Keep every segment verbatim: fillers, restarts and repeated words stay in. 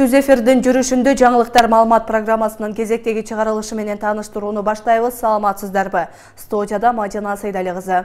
Түз эфирдин жүрүшүндө жаңылыктар маалымат программасынын кезектеги чыгарылышы менен тааныштырууну баштайбыз. Саламатсыздарбы? Студияда Мадина Сайдали кызы.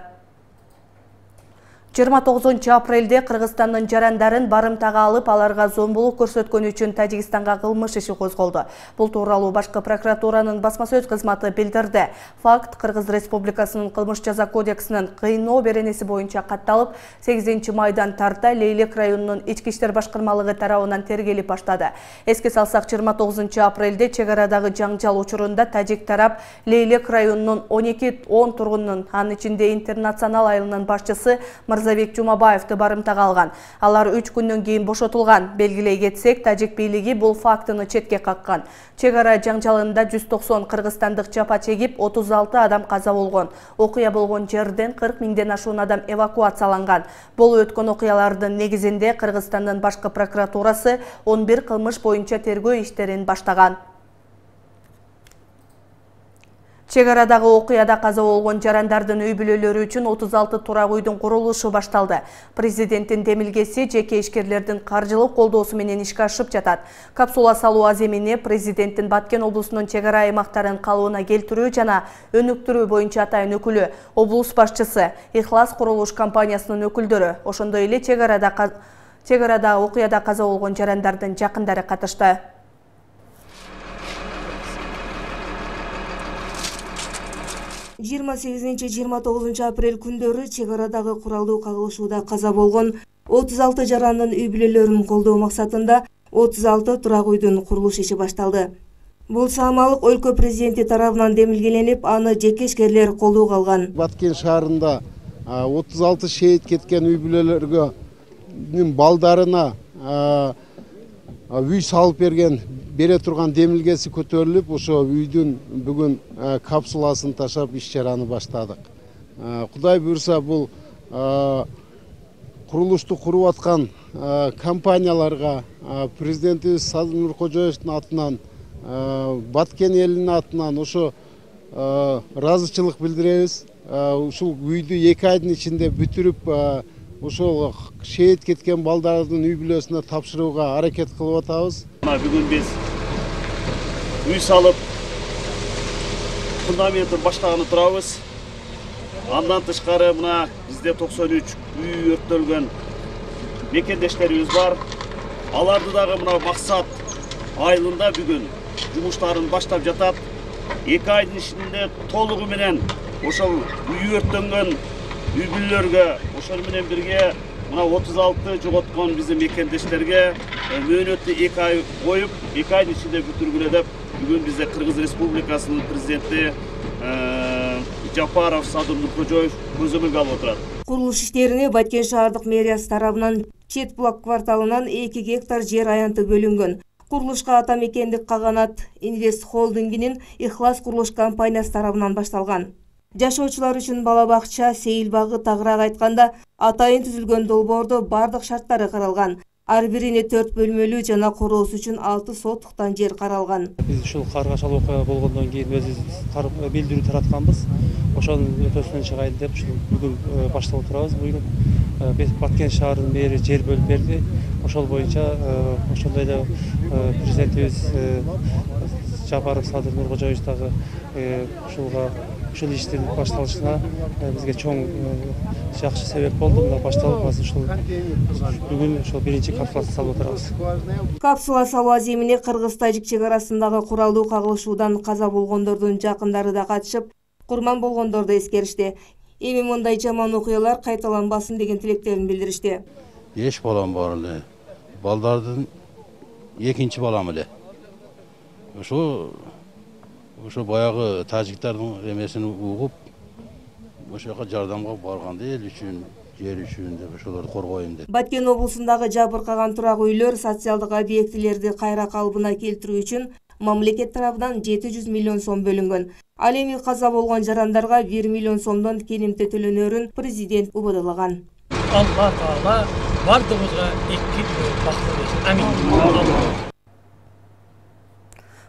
жыйырма тогузунчу апрелде Кыргызстандын жарандарын барымтага алып, аларга зомбулук көрсөткөнү үчүн Тажикстанга кылмыш иши козголду. Бул тууралуу башкы прокуратуранын басма сөз кызматы билдирди. Факт Кыргыз Республикасынын кылмыш жаза кодексинин кыйноо беренеси боюнча катталып, сегизинчи майдан тарта Лейлек районунун ички иштер башкармалыгы тарабынан тергелип баштады. Эске салсак, жыйырма тогузунчу апрелде чек арадагы жаңжал учурунда Тажик тарап Лейлек районунун он эки он тургунунун, анын ичинде Интернационал айылынын башчысы Мырзабек Жумабаевди барымтага алган. Алар үч күндөн кийин бошотулган. Белгилей кетсек, Тажик бийлиги бул фактыны четке каккан. Чек ара жаңжалында жүз токсон кыргызстандык жапа чегип, отуз алты адам каза болгон. Окуя болгон жерден кырк миңден ашуун адам эвакуацияланган. Болуп өткөн окуялардын негизинде Кыргызстандын башкы прокуратурасы он бир кылмыш боюнча тергөө иштерин баштаган. Чек арадагы окуяда каза болгон жарандардын үй бүлөлөрү үчүн отуз алты турак үйдүн курулушу башталды. Президенттин демилгеси жеке ишкерлердин каржылык колдоосу менен ишке ашып жатат. Капсула салуу аземине президенттин Баткен облусунун чек ара аймактарын калыбына келтирүү жана өнүктүрүү боюнча атайын өкүлү, облус башчысы, Ихлас курулуш компаниясынын өкүлдөрү, ошондой эле чек арада чек арада окуяда каза болгон жарандардын жакындары катышты. жыйырма сегизинчи жыйырма тогузунчу апрель күндөрү чек арадагы куралдуу кагылышууда каза болгон отуз алты жарандын үй бүлөлөрүн колдоо максатында отуз алты турак үйдүн курулуш иши башталды. Бул саамалык өлкө президенти тарабынан демилгеленип, аны жеке ишкерлер колдоого алган. Баткен шаарында отуз алты шейит кеткен үй бүлөлөргө балдарына үй салып берген бере турган демилгеси көтөрүлүп, ошо үйдүн бүгүн капсуласын ташап иш чараны баштадык. Кудай буйрса, бул курулушту куруп аткан компанияларга президентибиз Садыр Нуркожоевдун атынан, Баткен элинин атынан ошо ыраазычылык билдиребиз. Ушул үйдү эки айдын ичинде бүтүрүп, ошол шейит кеткен балдардын үй бүлөсүнө тапшырууга аракет кылып атабыз. Бүгүн биз үй салып, фундаментин баштаганы турабыз. Андан тышкары мына бизде токсон үч үй өрттөлгөн мекендештерибиз бар. Аларды дагы мына максат айылында бүгүн жумуштарын баштап жатат. эки айдын ичинде толугу менен ошол үй өрттөнгөн үй бүлөлөргө, ошол менен бирге мына отуз алты жоготкон биздин мекендештерге мөөнөттү эки ай коюп, эки айдын ичинде бүтүргүлө деп бүгүн бизде Кыргыз Республикасынын президенти Жапаров Садыр Нуркожоев көзөмөлгө алып отурат. Курулуш иштерине Баткен шаардык мэриясы тарабынан Чет Булак кварталынан эки гектар жер аянты бөлүнгөн. Курулушка Атамекендик Каганат Инвест холдингинин Ихлас курулуш компаниясы тарабынан башталган. Жашоочулар үчүн бала бакча, сейил багы, тагыраак айтканда атайын түзүлгөн долбоордо бардык шарттары каралган. Ар бирине төрт бөлмөлүү жана короосу үчүн алты соттуктан жер каралган. Биз ушул каргашал окуя болгондон кийин өзүбүз билдирүү таратканбыз. Ошонун өтөсүнөн чыгайлы деп ушул бүгүн башталып турабыз. Буюруп Баткен шаарынын мэри жер бөлүп берди. Ошол боюнча ошондой эле президентибиз Жапаров Садыр Нуркожоевич дагы ушулга ушул иштин башталышына бизге чоң жакшы себеп болду. Мына башталып азыр ушул бүгүн ошол биринчи капсуласын салып отурабыз. Капсула салуу аземине Кыргыз-Тажик чек арасындагы куралдуу кагылышуудан каза болгондордун жакындары да катышып, курман болгондорду эскеришти. Эми мындай жаман окуялар кайталанбасын деген тилектерин билдиришти. Эч балам бар эле. Балдардын экинчи балам эле. Ошо ошо баягы тажиктардын эмесин угуп, ошо жака жардамга барганда эл үчүн, жер үчүн деп ошолорду коргойм деп. Баткен облусундагы жабыркаган турак үйлөр, социалдык объектилерди кайра калыбына келтирүү үчүн мамлекет тарабынан жети жүз миллион сом бөлүнгөн. Ал эми каза болгон жарандарга бир миллион сомдон келимте төлөнөрүн президент убадылаган. Алла Таала бардыгыбызга эки бактын берсин. Амин.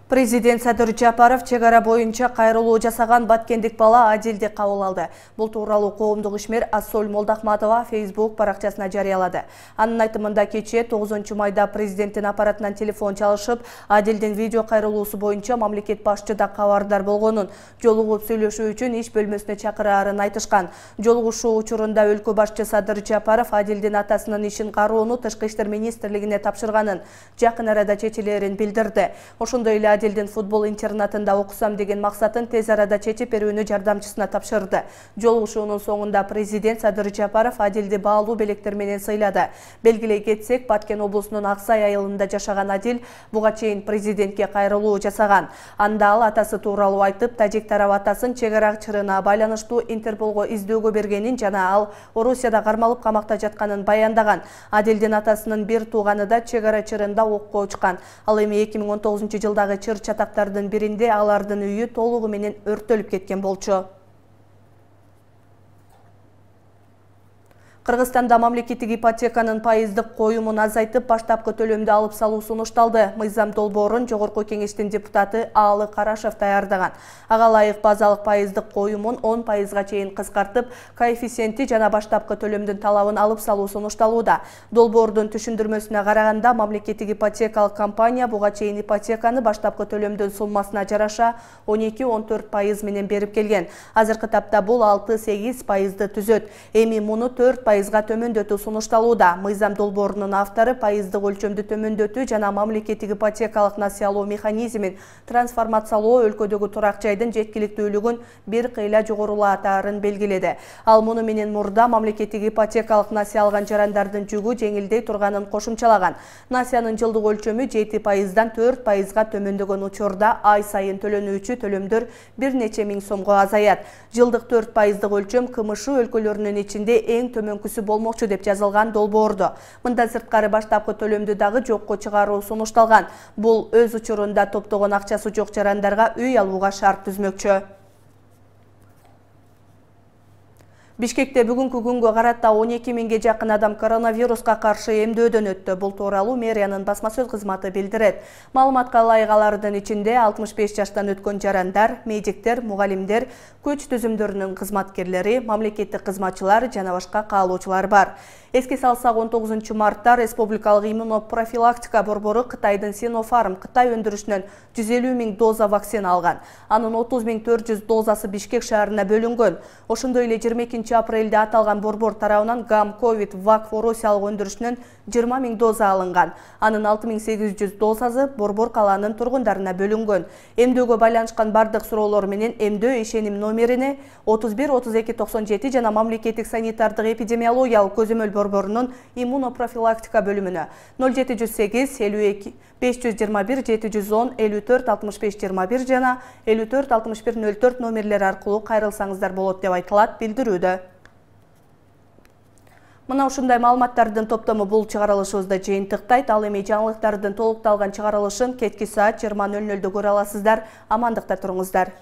Президент Садыр Жапаров чек ара боюнча кайрылуу жасаган баткендик бала Адилди кабыл алды. Бул тууралуу коомдук ишмер Ассоль Молдахматова Facebook баракчасына жарыялады. Анын айтымында кечээ тогузунчу майда президенттин аппаратынан телефон чалышып, Адилдин видео кайрылуусу боюнча мамлекет башчыда кабардар болгонун, жолугуп сүйлөшүү үчүн иш бөлмөсүнө чакыраарын айтышкан. Жолугушуу учурунда өлкө башчы Садыр Жапаров Адилдин атасынын ишин кароону Тышкы иштер министрлигине тапшырганын, жакын арада чечилерин билдирди. Ошондой эле Адилдин футбол интернатында окусам деген максатын тез арада чечип берүүнү жардамчысына тапшырды. Жолугушуунун соңунда президент Садыр Жапаров Адилди баалуу белектер менен сыйлады. Белгилей кетсек, Баткен облусунун Аксай айылында жашаган Адил буга чейин президентке кайрылуу жасаган. Анда ал атасы тууралуу айтып, тажик тарап атасын чек ара чырына байланыштуу Интерполго издөөгө бергенин жана ал Орусияда кармалып камакта жатканын баяндаган. Адилдин атасынын бир тууганы да чек ара чырында окко учкан. Ал эми эки миң он тогузунчу жылдагы чыр чатактардын биринде алардын үйү толугу менен өрттөлүп кеткен болчу. Кыргызстанда мамлекеттик ипотеканын пайыздык коюмун азайтып, баштапкы төлөмдү алып салуу сунушталды. Мыйзам долбоорун Жогорку Кеңештин депутаты Аалы Карашев даярдаган. Ага ылайык базалык пайыздык коюмун он пайызга чейин кыскартып, коэффициенти жана баштапкы төлөмдүн талабын алып салуу сунушталууда. Долбоордун түшүндүрмөсүнө караганда, мамлекеттик ипотекалык компания буга чейин ипотеканы баштапкы төлөмдүн суммасына жараша он эки — он төрт пайыз менен берип келген. Азыркы тапта бул алты — сегиз пайызды түзөт. Эми муну төрт пайызга төмөндөтүү сунушталууда. Мыйзам долбоорунун автору пайыздык өлчөмдү төмөндөтүү жана мамлекеттик ипотекалык насыялоо механизмин трансформациялоо өлкөдөгү турак жайдын жеткиликтүүлүгүн бир кыйла жогорулатаарын белгиледи. Ал муну менен мурда мамлекеттик ипотекалык насыя алган жарандардын жүгү жеңилдей турганын кошумчалаган. Насыянын жылдык өлчөмү жети пайыздан төрт пайызга төмөндөгөн учурда ай сайын төлөнүүчү төлөмдөр бир нече миң сомго азаят. Жылдык төрт пайыздык өлчөм КМШ өлкөлөрүнүн ичинде эң төмөнкүсү болмокчу деп жазылган долбоордо. Мындан сырткары баштапкы төлөмдү дагы жокко чыгаруу сунушталган. Бул өз учурунда топтогон акчасы жок жарандарга үй алууга шарт түзмөкчү. Бишкекте бүгүнкү күнгө карата он эки миңге жакын адам коронавируска каршы эмдөөдөн өттү. Бул тууралуу мэриянын басма сөз кызматы билдирет. Маалыматка ылайык алардын ичинде алтымыш беш жаштан өткөн жарандар, медиктер, мугалимдер, күч түзүмдөрүнүн кызматкерлери, мамлекеттик кызматчылар жана башка каалоочулар бар. Эске салсак, он тогузунчу мартта республикалык иммунопрофилактика борбору Кытайдын Sinopharm Кытай өндүрүшүнөн жүз элүү миң доза вакцина алган. Анын отуз миң төрт жүз дозасы Бишкек шаарына бөлүнгөн. Ошондой эле жыйырма экинчи апрелде аталган борбор тарабынан Гам Ковид Вак Орусиялык өндүрүшүнөн жыйырма миң доза алынган. Анын алты миң сегиз жүз дозасы борбор калаанын тургундарына бөлүнгөн. Эмдөөгө байланышкан бардык суроолор менен эмдөө ишеним номерине отуз бир отуз эки токсон жети жана мамлекеттик санитардык эпидемиологиялык көзөмөл борборунун иммунопрофилактика бөлүмүнө ноль жети жүз сегиз элүү эки беш жүз жыйырма бир жети жүз он элүү төрт алтымыш беш жыйырма бир жана элүү төрт алтымыш бир ноль төрт номерлери аркылуу кайрылсаңыздар болот деп айтылат билдирүүдө. Мына ушундай маалыматтардын топтому бул чыгарылышыбызды жыйынтыктайт. Ал эми жаңылыктардын толукталган чыгарылышын кечки саат жыйырма ноль нөлдө көрө аласыздар. Амандыкта туруңуздар.